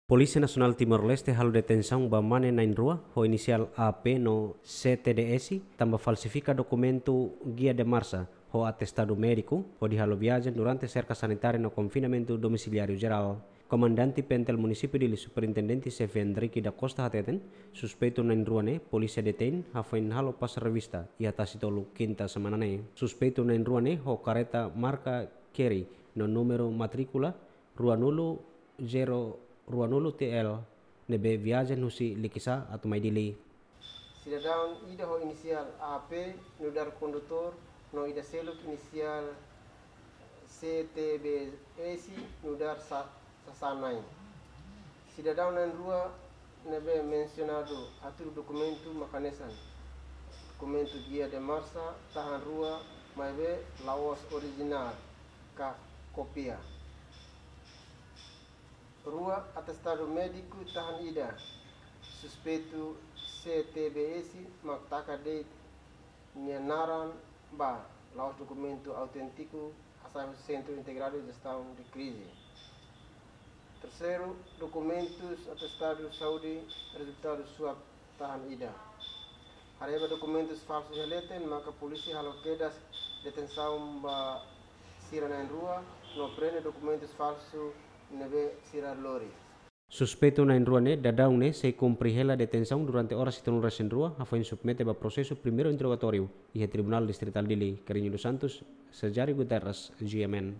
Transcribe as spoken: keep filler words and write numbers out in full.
Polísia Nasionál Timor-Leste halo detensaun ba mane na'in-rua ho inisiál A P no C T B S tanba falsifika dokumentu guia de marcha ho atestadu médiku hodi halo viajen durante serka sanitária no konfinamentu domisiliáriu jerál. Komandante P N T L Munisípiu Dili, Superintendente Xefe Hendrick da Costa hateten, suspeitu na'in-rua ne'e polísia detein hafoin halo pas revista iha Tasitolu, kinta semana ne'e. Suspeitu na'in-rua ne'e ho kareta marka Chery no númeru matríkula ruanulu zero ruanulu T L ne'ebé viajen husi Likisá atu mai Dili. Sidadaun ida ho inisiál A P nu'udar kondutór no ida seluk inisiál C T B S nu'udar sa-, sasán-na'in. Sidadaun na'in-rua ne'ebé mensionadu hatudu dokumentu mak hanesan dokumentu guia de marcha tahan rua maibé la'ós orijinál ka kópia. Rua, atestadu médiku tahan ida. Suspeitu C T B S mak taka de'it nia naran ba, la'ós dokumentu auténtiku, hasai husi Sentru Integradu Jestaun de Krize. Terseiru, dokumentus atestadu saúde rezultadu swab tahan ida. Haree ba dokumentus falsu iha leten, maka polísia halo kedas detensaun ba sira na'in-rua no prende dokumentus falsu ne'ebé sira lori. Suspeitu na'in-rua ne'e daudaun ne'e sei kumpre hela detensaun durante oras hitunulu resin rua, hafoin submete ba prosesu primeiru interrogatóriu iha Tribunál Distritál Dili. Carrinho dos Santos, Sajari Guterres, G M N.